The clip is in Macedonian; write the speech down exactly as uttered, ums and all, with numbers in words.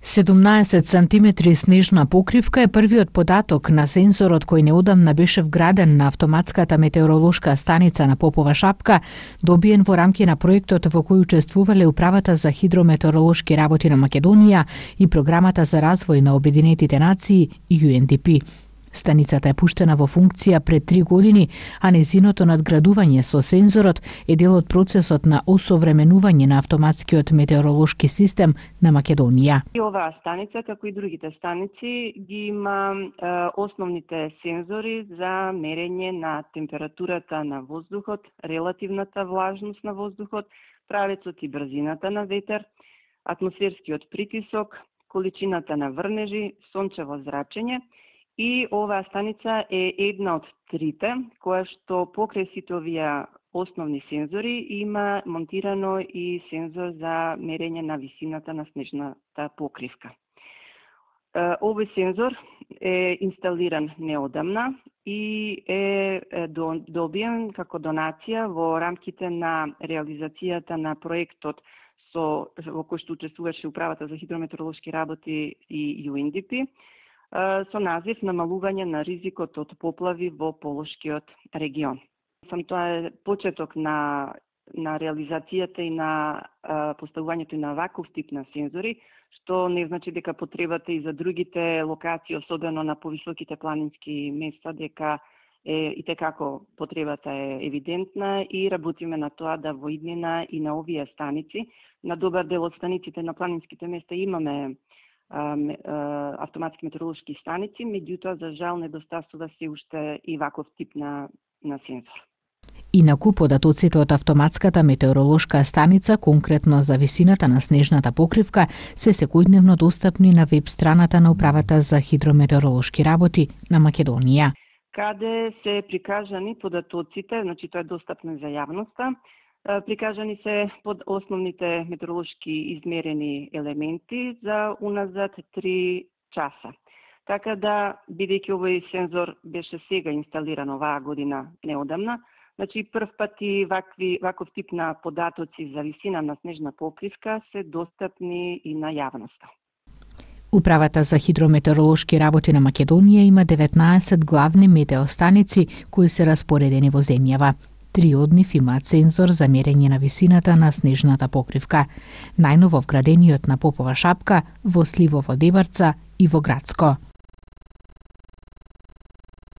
седумнаесет сантиметри снежна покривка е првиот податок на сензорот кој неодамна беше вграден на автоматската метеоролошка станица на Попова шапка, добиен во рамки на проектот во кој учествувале Управата за хидрометеоролошки работи на Македонија и Програмата за развој на Обединетите нации Ю Ен Ди Пи. Станицата е пуштена во функција пред три години, а незиното надградување со сензорот е дел од процесот на осовременување на автоматскиот метеоролошки систем на Македонија. И оваа станица, како и другите станици, ги има е, основните сензори за мерење на температурата на воздухот, релативната влажност на воздухот, правецот и брзината на ветер, атмосферскиот притисок, количината на врнежи, сончево зрачење. И оваа станица е една од трите, која што покрај сите овие основни сензори има монтирано и сензор за мерење на висината на снежната покривка. Овој сензор е инсталиран неодамна и е добиен како донација во рамките на реализацијата на проектот со во кој што учествуваше Управата за хидрометеоролошки работи и Ю Ен Ди Пи, со назив намалување на ризикот од поплави во Полошкиот регион. Сам тоа е почеток на на реализацијата и на а, поставувањето на ваков тип на сензори, што не значи дека потребата и за другите локации, особено на повисоките планински места, дека е и tekako потребата е евидентна и работиме на тоа да во иднина и на овие станици, на добар дел од станиците на планинските места имаме автоматски метеоролошки станици, меѓутоа за жал недостасува се уште и ваков тип на, на сензор. Инаку податоците од автоматската метеоролошка станица, конкретно за висината на снежната покривка, се секојдневно достапни на веб страната на Управата за хидрометеоролошки работи на Македонија, каде се прикажани податоците, значи тоа е достапно за јавноста. Прикажани се под основните метеоролошки измерени елементи за уназад три часа. Така да, бидејќи овој сензор беше сега инсталиран оваа година неодамна, значи прв пат и вакви, ваков тип на податоци за висина на снежна покривка се достапни и на јавноста. Управата за хидрометеоролошки работи на Македонија има деветнаесет главни метеостаници кои се распоредени во земјава. Три од нив имаат сензор за мерење на висината на снежната покривка. Најново вградениот на Попова шапка, во Сливово Деварца и во Грацко.